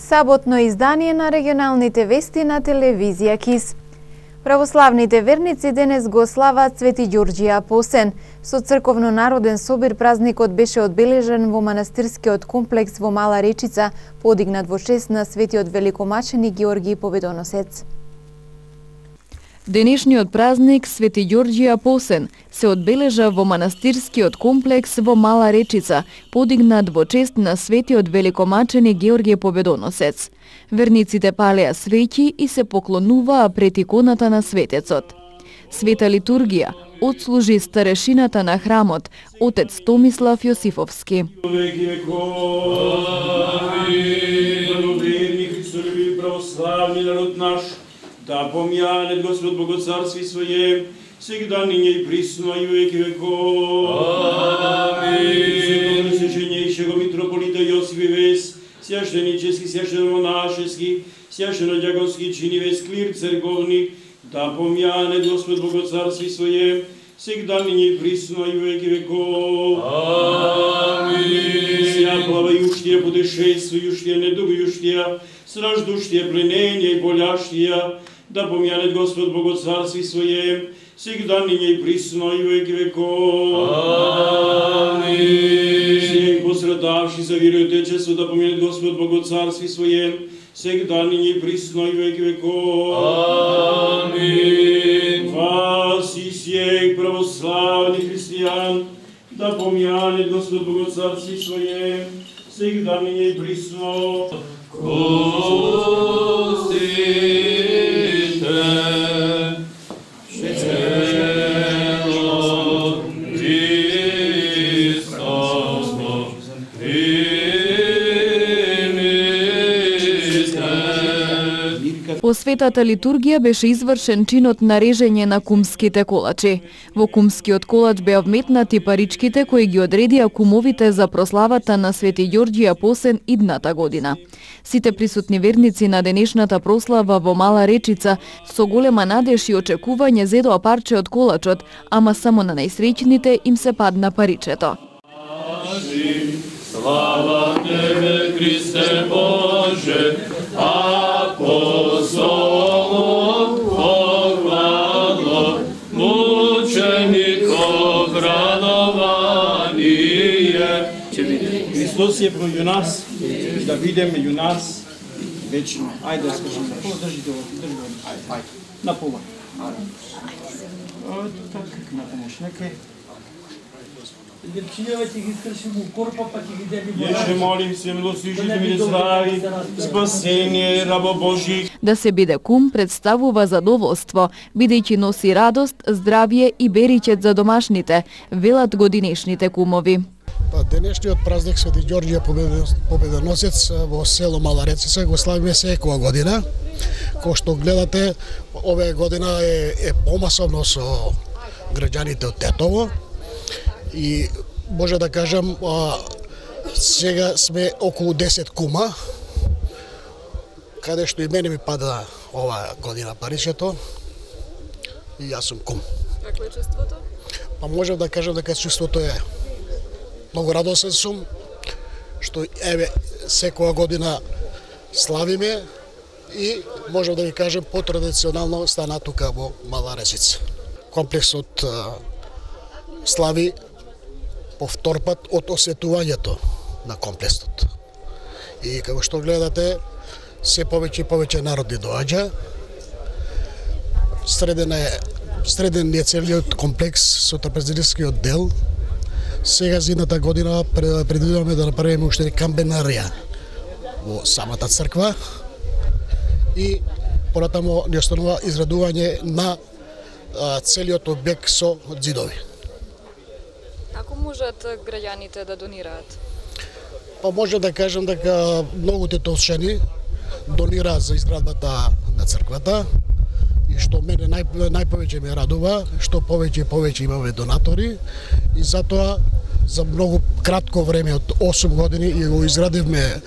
Саботно издание на регионалните вести на телевизија КИС. Православните верници денес го слават Свети Ѓорѓи Апостен. Со црковно-народен собир празникот беше одбележен во манастирскиот комплекс во Мала Речица, подигнат во чест на светиот великомаченик Георги Победоносец. Денешниот празник Свети Ѓорѓи Апостен се одбележа во манастирскиот комплекс во Мала Речица, подигнат во чест на светиот великомаченик Георги Победоносец. Верниците палеа свеќи и се поклонуваа пред иконата на светецот. Света литургија отслужи старешината на храмот, отец Томислав Јосифовски. Да помјане Господ Богоцарство Своје, сегда ниње и присно и веки веков. Амин. Святопресвещенейшего митрополита Јосиф Вес, священически, священо-монашески, священо-дјаконски чини вес клир церковник, да помјане Господ Богоцарство Своје, сегда ниње и присно и веки веков. Амин. Ся плавајуштија, путешествујуштија, недугујуштија, страждуштија, пленења и боляштија, да помјане Господ Богоцарство Своје, сегда ниње и присно и веки веков. Амин. Сијај пострадавши за вера и отечество, да помјане Господ Богоцарство Своје, сегда ниње и присно и веки веков. Амин. Вас и сијај православни христијан, да помјане Господ Богоцарство Своје, сегда ниње и присно. По светата литургија беше извршен чинот на режење на кумските колачи. Во кумскиот колач беа вметнати паричките кои ги одредија кумовите за прославата на Свети Ѓорѓи Апостен идната година. Сите присутни верници на денешната прослава во Мала Речица со голема надеж и очекување зедоа парче од колачот, ама само на најсреќните им се падна паричето. Слава Тебе, Христе Боже, апостолом похвала, мучеников радование. Христос е меѓу нас, да биде меѓу нас вечно. Ајде, скажем, држите го, ајде, на пола. Така, на помош, нека. Јеше молим се, милостивите ми здрави, спасение, рабо Божи. Да се биде кум представува задоволство, бидејќи носи радост, здравје и беричет за домашните, велат годинешните кумови. Денешниот празник Свети Ѓорѓи Победоносец во село Мала Речица го славиме секоја година. Кој што гледате, оваа година е помасовно со граѓаните од Тетово. И може да кажам, сега сме околу 10 кума, каде што и мене ми пада оваа година паричето, и јас сум кум. Какво е чувството? Па можам да кажам дека чувството е многу радосен сум, што еве секоја година славиме и можам да ви кажем потрадиционално стана тука во Мала Речица. Комплексот слави по втор пат од осветувањето на комплексот. И како што гледате, се повеќе и повеќе народи доаѓа. Среден е целиот комплекс со трапезаристскиот дел. Сега за едната година предвидуваме да направиме уште камбенарија во самата црква и понатаму ни останува израдување на целиот објект со ѕидови. Како можат граѓаните да донираат? Па може да кажам дека многу тетовчани донираат за изградбата на црквата и што мене најповеќе ме радува, што повеќе и повеќе имаме донатори и затоа за многу кратко време од 8 години ја изградивме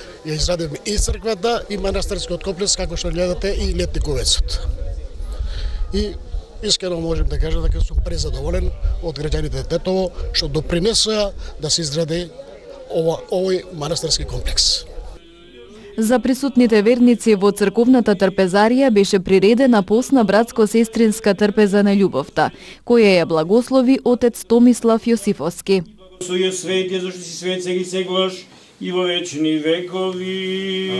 и црквата и манастирскиот комплекс, како што гледате, и летниковецот. И искрено можем да кажам дека сум презадоволен од граѓаните Тетово што допринесоа да се изгради овој манастирски комплекс. За присутните верници во црковната трпезарија беше приредена постна братско-сестринска трпеза на љубовта, која ја благослови отец Томислав Јосифовски. Благослови свети, зашто си свет сега и сегаш и во вечни векови.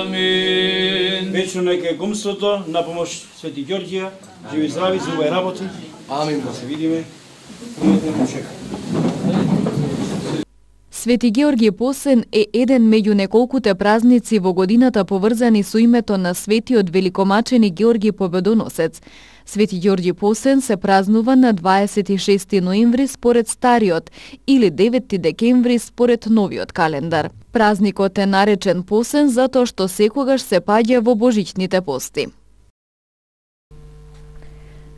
Амин. Вечно нека е кумството, на помош Свети Ѓорѓија, живи здрави за овој работи. Амин. Да се видиме. Пријатен чека. Свети Георги Посен е еден меѓу неколкуте празници во годината поврзани со името на светиот великомачени Георги Победоносец. Свети Ѓорги Посен се празнува на 26 ноември според стариот или 9 декември според новиот календар. Празникот е наречен Посен затоа што секогаш се паѓа во божичните пости.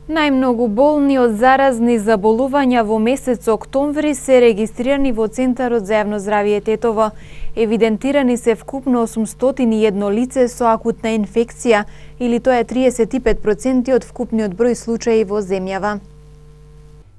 Најмногу болни од заразни заболувања во месец октомври се регистрирани во Центарот за јавно здравје Тетово. Евидентирани се вкупно 801 лице со акутна инфекција, или тоа е 35% од вкупниот број случаи во земјава.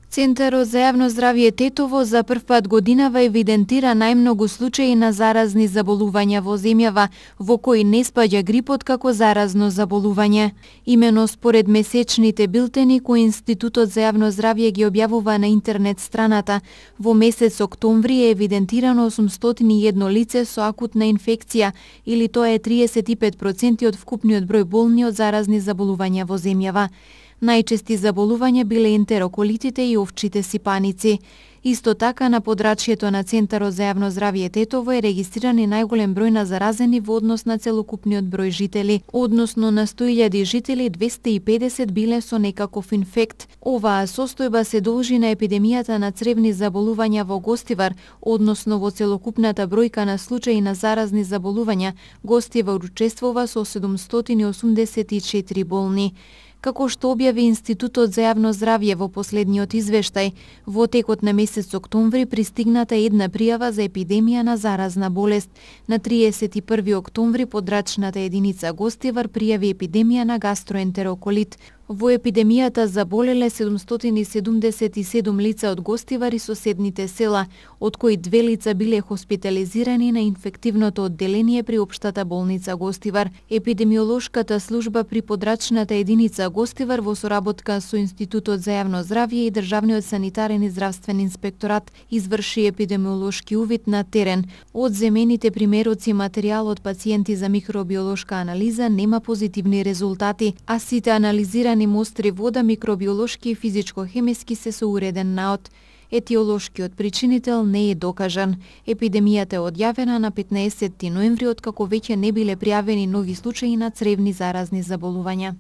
Центарот за јавно здравје Тетово за прв пат годинава евидентира најмногу случаи на заразни заболувања во земјава, во кои не спаѓа грипот како заразно заболување. Имено според месечните билтени кои Институтот за јавно здравје ги објавува на интернет страната, во месец октомври е евидентирано 801 лице со акутна инфекција, или тоа е 35% од вкупниот број болни од заразни заболувања во земјава. Најчести заболувања биле ентероколитите и овчите сипаници. Исто така на подрачјето на Центарот за јавно здравје Тетово е регистриран и најголем број на заразени во однос на целокупниот број жители. Односно на 100.000 жители, 250 биле со некаков инфект. Оваа состојба се должи на епидемијата на цревни заболувања во Гостивар, односно во целокупната бројка на случаи на заразни заболувања, Гостивар учествува со 784 болни. Како што објави Институтот за јавно здравје во последниот извештај, во текот на месец октомври пристигната една пријава за епидемија на заразна болест. На 31 октомври подрачната единица Гостивар пријави епидемија на гастроентероколит. Во епидемијата заболеле 777 лица од Гостивар и соседните села, од кои 2 лица биле хоспитализирани на инфективното одделение при Општата болница Гостивар. Епидемиолошката служба при подрачната единица Гостивар во соработка со Институтот за јавно здравје и Државниот санитарен и здравствен инспекторат изврши епидемиолошки увид на терен. Од земените примероци материјал од пациенти за микробиолошка анализа нема позитивни резултати, а сите анализирани мостри вода микробиолошки и физичко-хемиски се со уреден наод. Етиолошкиот причинител не е докажан. Епидемијата е одјавена на 15 ноември, откако веќе не биле пријавени нови случаи на цревни заразни заболувања.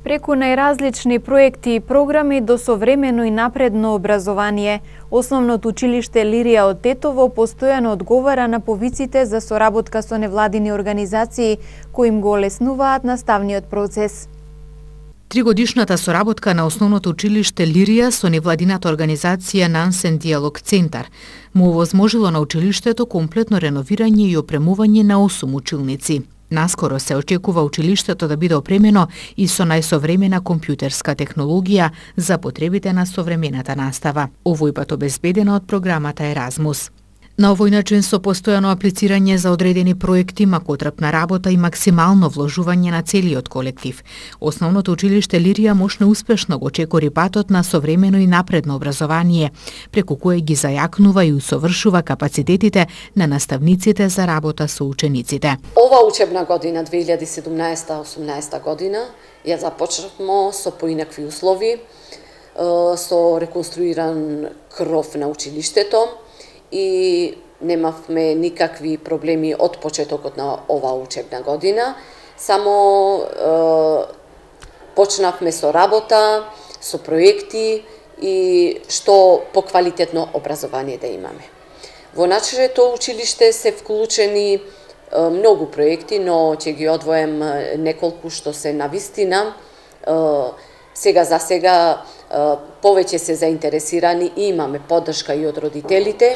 Преку најразлични проекти и програми до современо и напредно образование, Основното училиште Лирија од Тетово постојано одговара на повиците за соработка со невладини организации кои им го олеснуваат наставниот процес. Тригодишната соработка на Основното училиште Лирија со невладината организација Нансен Диалог Центар му овозможило на училиштето комплетно реновирање и опремување на 8 училници. Наскоро се очекува училиштето да биде опремено и со најсовремена компјутерска технологија за потребите на современата настава, овој пат обезбедена од програмата Еразмус. На овој начин со постојано аплицирање за одредени проекти, макотрпна работа и максимално вложување на целиот колектив, Основното училиште Лирија можно успешно го чекори патот на современо и напредно образование, преку кое ги зајакнува и усовршува капацитетите на наставниците за работа со учениците. Ова учебна година 2017-18 година ја започнавме со поинакви услови, со реконструиран кров на училиштето, и немавме никакви проблеми од почетокот на оваа учебна година. Само почнавме со работа, со проекти и што поквалитетно образование да имаме. Во нашето училиште се вклучени многу проекти, но ќе ги одвоем неколку што се навистина. Сега за сега повеќе се заинтересирани и имаме поддршка и од родителите,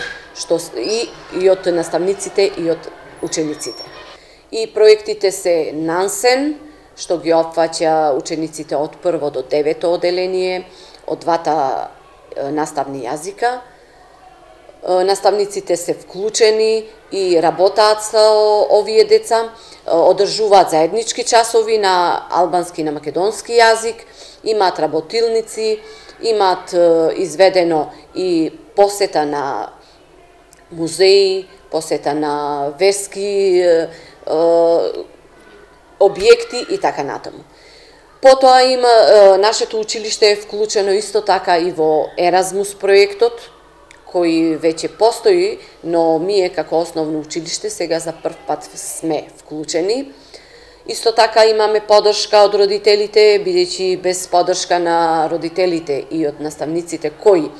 и од наставниците и од учениците. И проектите се Нансен, што ги опфаќа учениците од 1 до 9 одделение, од двата наставни јазика, наставниците се вклучени и работаат со овие деца, одржуваат заеднички часови на албански и на македонски јазик, имаат работилници, имаат изведено и посета на музеи, посета на верски објекти и така натаму. Потоа нашето училиште е вклучено исто така и во Еразмус проектот, кој веќе постои, но ние како основно училиште сега за прв пат сме вклучени. Исто така имаме поддршка од родителите, бидејќи без поддршка на родителите и од наставниците кои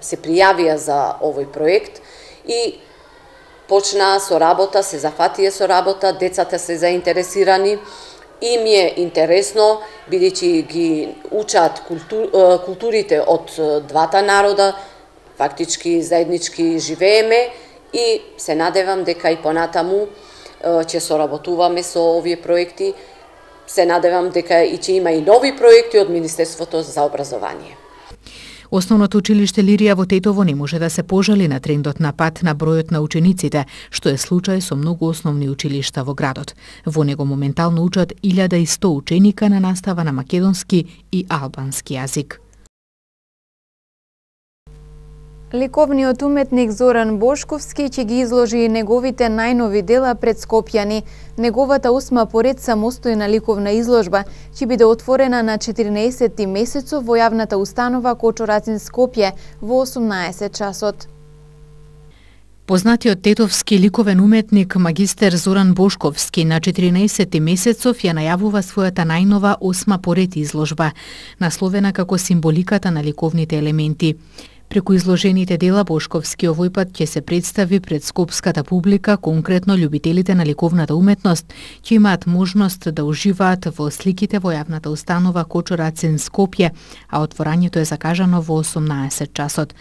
се пријавија за овој проект и почнаа со работа, се зафатија со работа, децата се заинтересирани, им е интересно, бидејќи ги учат културите од двата народа, фактички заеднички живееме и се надевам дека и понатаму ќе соработуваме со овие проекти. Се надевам дека и ќе има и нови проекти од Министерството за образование. Основното училиште Лирија во Тетово не може да се пожали на трендот на пат на бројот на учениците, што е случај со многу основни училишта во градот. Во него моментално учат 1100 ученика на настава на македонски и албански јазик. Ликовниот уметник Зоран Бошковски ќе ги изложи неговите најнови дела пред скопјани. Неговата 8 поред самостојна ликовна изложба ќе биде отворена на 14 месецов во јавната установа Кочо-Рацин Скопје во 18 часот. Познатиот тетовски ликовен уметник магистер Зоран Бошковски на 14 месецов ја најавува својата најнова 8 поред изложба, насловена како символиката на ликовните елементи. Преку изложените дела Бошковски овој пат ќе се представи пред скопската публика, конкретно љубителите на ликовната уметност, ќе имаат можност да уживаат во сликите во јавната установа Кочо-Рацин Скопје, а отворањето е закажано во 18 часот.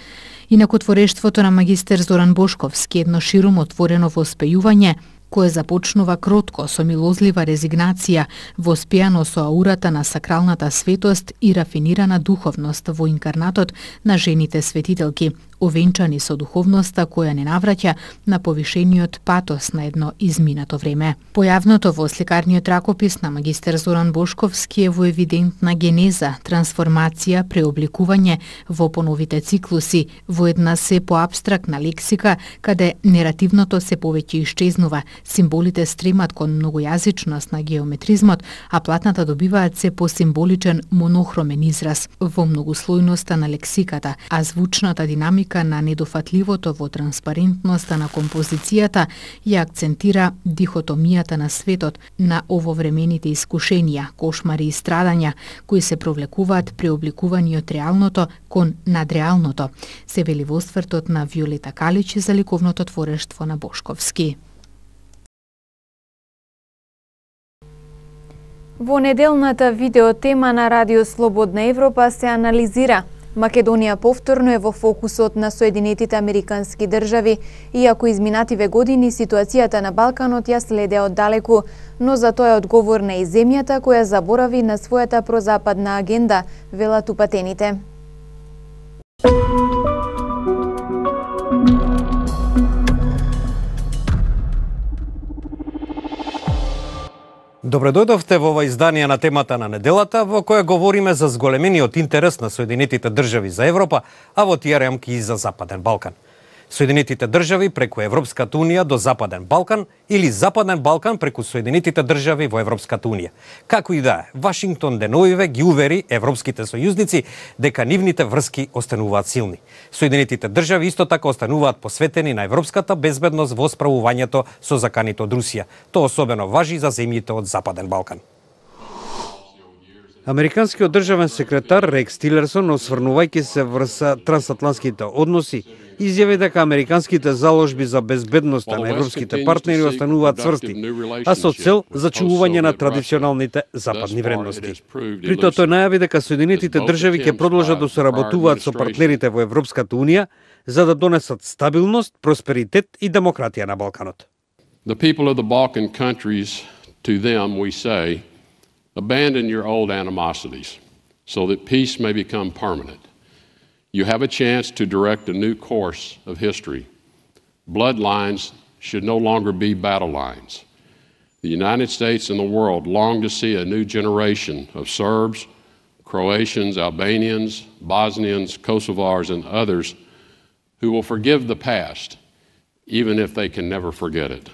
Инаку творештвото на магистер Зоран Бошковски едно ширум отворено воспејување, кое започнува кротко со милозлива резигнација, воспеано со аурата на сакралната светост и рафинирана духовност во инкарнатот на жените светителки, овенчани со духовноста која не навраќа на повишениот патос на едно изминато време. Појавното во сликарниот ракопис на магистер Зоран Бошковски е во евидентна генеза, трансформација, преобликување во поновите циклуси, во една се поабстрактна лексика, каде неративното се повеќе исчезнува, символите стремат кон многојазичност на геометризмот, а платната добиваат се посимволичен монохромен израз во многослојноста на лексиката, а звучната динамика на недофатливото во транспарентноста на композицијата ја акцентира дихотомијата на светот, на ововремените искушенија, кошмари и страдања, кои се провлекуваат преобликувани од реалното кон надреалното, се вели во освртот на Виолета Калич за ликовното творештво на Бошковски. Во неделната видеотема на Радио Слободна Европа се анализира Македонија повторно е во фокусот на Соединетите Американски држави, иако изминативе години ситуацијата на Балканот ја следе оддалеку, но за тоа е одговорна и земјата која заборави на својата прозападна агенда, велат упатените. Добре дојдовте во ова издание на темата на неделата, во која говориме за зголемениот интерес на Соединетите држави за Европа, а во тие рамки и за Западен Балкан. Соединетите држави преку Европската Унија до Западен Балкан или Западен Балкан преку Соединетите држави во Европската Унија. Како и да е, Вашингтон деновиве ги увери европските сојузници дека нивните врски остануваат силни. Соединетите држави исто така остануваат посветени на европската безбедност во справувањето со заканите од Русија. Тоа особено важи за земјите од Западен Балкан. Американскиот државен секретар Рекс Тилерсон, осврнувајќи се врз трансатлантските односи, изјави дека американските заложби за безбедноста на европските партнери остануваат цврсти, а со цел зачувување на традиционалните западни вредности. При тоа тој најави дека Соединетите држави ќе продолжат да соработуваат со партнерите во Европската Унија за да донесат стабилност, просперитет и демократија на Балканот. The people of the Balkan countries, to them we say, abandon your old animosities so that peace may become permanent. You have a chance to direct a new course of history. Bloodlines should no longer be battle lines. The United States and the world long to see a new generation of Serbs, Croatians, Albanians, Bosnians, Kosovars, and others who will forgive the past, even if they can never forget it.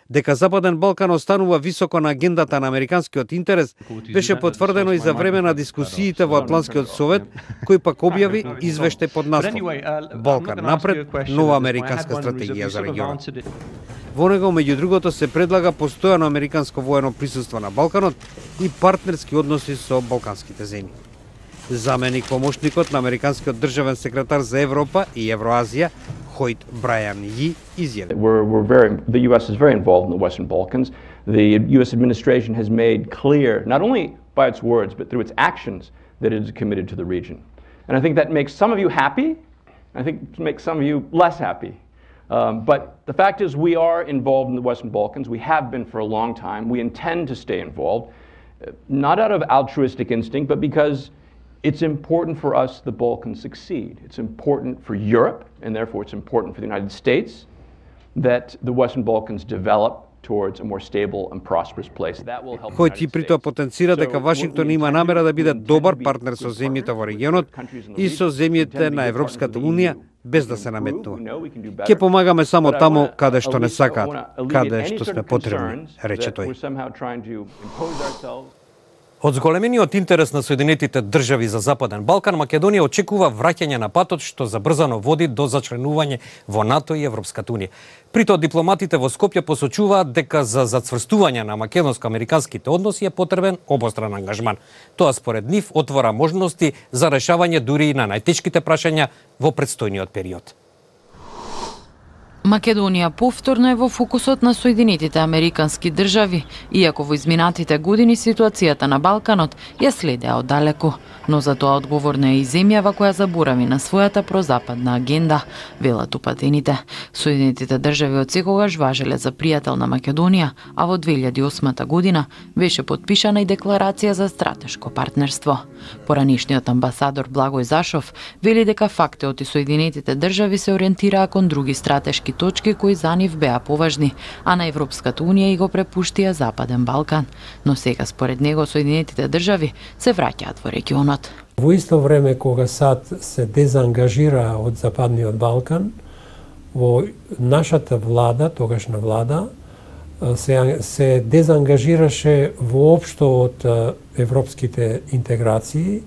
Дека Западен Балкан останува високо на агендата на американскиот интерес, беше потврдено и за време на дискусиите во Атлантскиот совет, кој пак објави извештај под наслов Балкан напред, нова американска стратегија за регионот. Во него, меѓу другото, се предлага постојано американско воено присуство на Балканот и партнерски односи со балканските земји. Заменик помошникот на американскиот државен секретар за Европа и Евроазија, Hoyt Bryan Yee, изјави. The U.S. is very involved in the Western Balkans. The U.S. administration has made clear, not only by its words, but through its actions, that it is committed to the region. And I think that makes some of you happy. I think it makes some of you less happy. But the fact is we are involved in the Western Balkans. We have been for a long time. We intend to stay involved, not out of altruistic instinct, but because it's important for us the Balkans succeed. It's important for Europe, and therefore it's important for the United States that the Western Balkans develop towards a more stable and prosperous place. That will help. Хојт и при тоа потенцира дека Вашингтон има намера да биде добар партнер со земјите во регионот и со земјите на Европската унија, без да се наметнува. Ќе помагаме само таму каде што не сакаат, каде што сме потребни, рече тој. Од зголемениот интерес на Соединетите држави за Западен Балкан, Македонија очекува враќање на патот што забрзано води до зачленување во НАТО и Европската унија. При тоа дипломатите во Скопје посочуваат дека за зацврстување на македонско-американските односи е потребен обостран ангажман. Тоа според нив отвора можности за решавање дури и на најтешките прашања во претстојниот период. Македонија повторно е во фокусот на Соединетите американски држави, иако во изминатите години ситуацијата на Балканот ја следеа оддалеку, но за тоа одговорна е и земјава која заборави на својата прозападна агенда, велат упатените. Соединетите држави од секогаш важеле за пријател на Македонија, а во 2008 година беше потпишана и декларација за стратешко партнерство. Поранишниот амбасадор Благој Зашов вели дека фактот и Соединетите држави се ориентираа кон други стратешки точки кои за нив беа поважни, а на Европската унија и го препуштија Западен Балкан. Но сега според него Соединетите држави се враќаат во регионот. Во исто време кога САД се дезангажира од Западниот Балкан, во нашата влада, тогашна влада, се дезангажираше воопшто од европските интеграции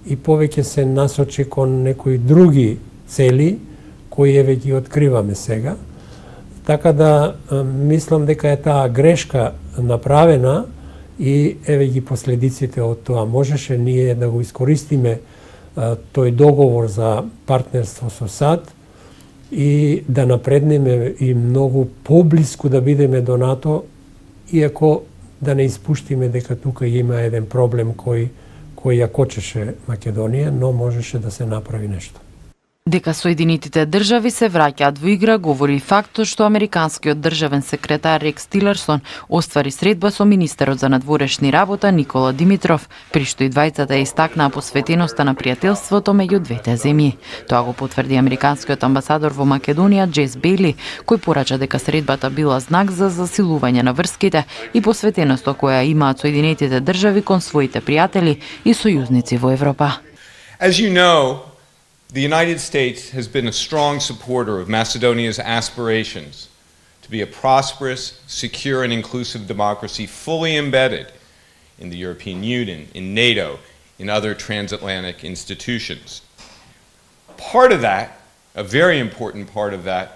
и повеќе се насочи кон некои други цели кои еве ги откриваме сега. Така да мислам дека е таа грешка направена и еве ги последиците од тоа. Можеше ние да го искористиме тој договор за партнерство со САД и да напреднеме и многу поблиску да бидеме до НАТО, иако да не испуштиме дека тука има еден проблем кој ја кочеше Македонија, но можеше да се направи нешто. Дека Соединетите држави се враќаат во игра говори и фактот што американскиот државен секретар Рекс Тилерсон оствари средба со министерот за надворешни работа Никола Димитров, при што и двајцата истакнаа посветеноста на пријателството меѓу двете земји. Тоа го потврди американскиот амбасадор во Македонија Джес Бейли, кој порача дека средбата била знак за засилување на врските и посветеноста која имаат Соединетите држави кон своите пријатели и сојузници во Европа. As you know, the United States has been a strong supporter of Macedonia's aspirations to be a prosperous, secure, and inclusive democracy fully embedded in the European Union, in NATO, in other transatlantic institutions. Part of that, a very important part of that,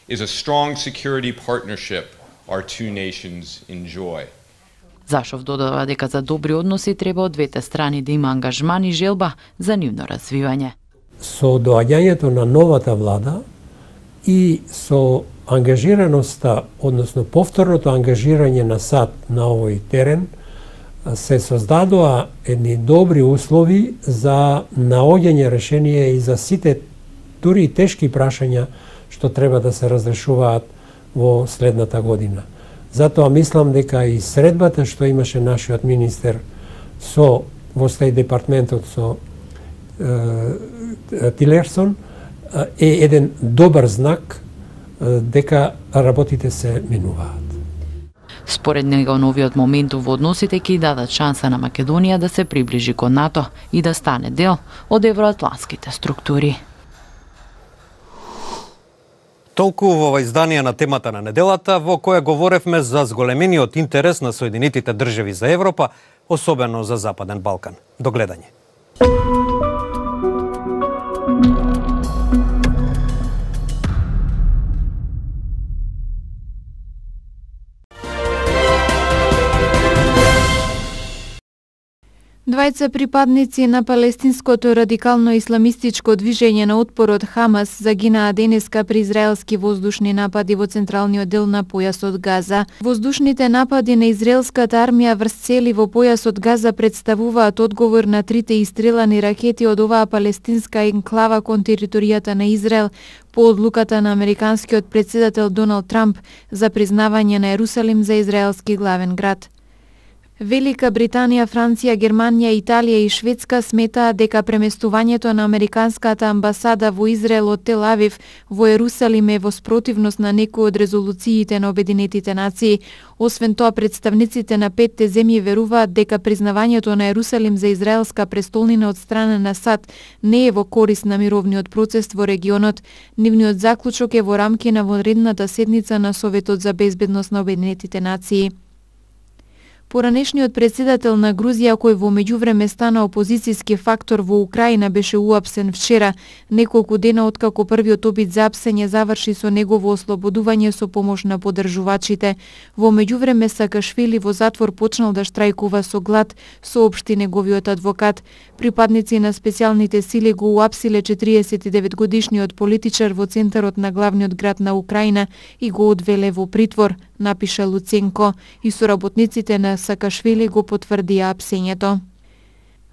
is a strong security partnership our two nations enjoy. Зашов додава дека за добри односи треба од двете страни да има ангажман и желба за нивно развивање. Со доаѓањето на новата влада и со ангажираноста, односно повторното ангажирање на САД на овој терен, се создадоа едни добри услови за наоѓање решение и за сите дури и тешки прашања што треба да се разрешуваат во следната година. Затоа мислам дека и средбата што имаше нашиот министер во Стејт департментот со Тилерсон е еден добар знак дека работите се менуваат. Според него, новиот момент во односите ќе дадат шанса на Македонија да се приближи кон НАТО и да стане дел од евроатлантските структури. Толку во ова издание на темата на неделата, во која говоревме за зголемениот интерес на Соединетите држави за Европа, особено за Западен Балкан. До гледање. Двајца припадници на палестинското радикално исламистичко движење на отпорот Хамас загинаа денеска при израелски воздушни напади во централниот дел на појасот Газа. Воздушните напади на израелската армија врз цели во појасот Газа представуваат одговор на трите истрелани ракети од оваа палестинска енклава кон територијата на Израел по одлуката на американскиот претседател Доналд Трамп за признавање на Ерусалим за израелски главен град. Велика Британија, Франција, Германија, Италија и Шведска сметаат дека преместувањето на американската амбасада во Израел од Тел Авив во Ерусалим е во спротивност на некои од резолуциите на Обединетите нации. Освен тоа, представниците на петте земји веруваат дека признавањето на Ерусалим за израелска престолнина од страна на САД не е во корист на мировниот процес во регионот. Нивниот заклучок е во рамки на вонредната седница на Советот за безбедност на Обединетите нации. Поранешниот претседател на Грузија, кој во меѓувреме стана опозицијски фактор во Украина, беше уапсен вчера, неколку дена откако првиот обид за апсење заврши со негово ослободување со помош на поддржувачите. Во меѓувреме Саакашвили во затвор почнал да штрајкува со глад, соопшти неговиот адвокат. Припадници на специјалните сили го уапсиле 49-годишниот политичар во центарот на главниот град на Украина и го одвеле во притвор, напиша Луценко, и соработниците на Саакашвили го потврдија апсењето.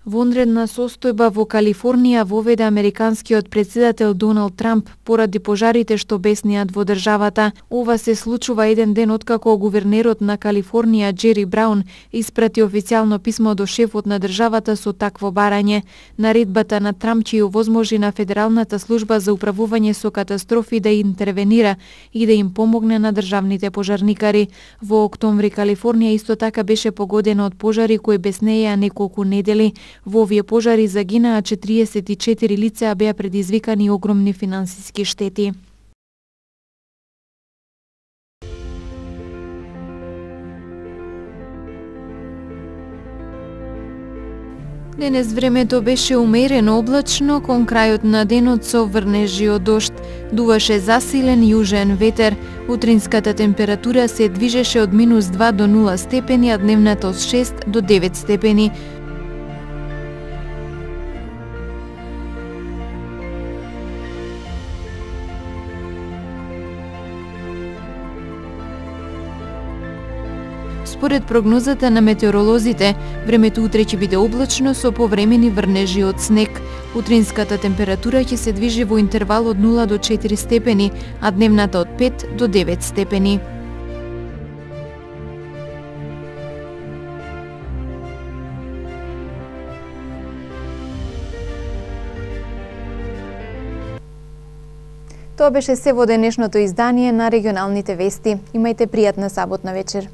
Вонредна состојба во Калифорнија воведе американскиот претседател Доналд Трамп поради пожарите што бесниат во државата. Ова се случува еден ден откако гувернерот на Калифорнија Джери Браун испрати официјално писмо до шефот на државата со такво барање. Наредбата на Трамп ќе овозможи на Федералната служба за управување со катастрофи да интервенира и да им помогне на државните пожарникари. Во октомври Калифорнија исто така беше погодена од пожари кои беснееа неколку недели. Во овие пожари загинаа 44 лица, а беа предизвикани огромни финансиски штети. Денес времето беше умерено облачно, кон крајот на денот со врнежи од дожд. Дуваше засилен јужен ветер. Утринската температура се движеше од -2 до 0 степени, а дневната од 6 до 9 степени. Според прогнозата на метеоролозите, времето утре ќе биде облачно со повремени врнежи од снег. Утринската температура ќе се движи во интервал од 0 до 4 степени, а дневната од 5 до 9 степени. Тоа беше се во денешното издание на регионалните вести. Имајте пријатна саботна вечер.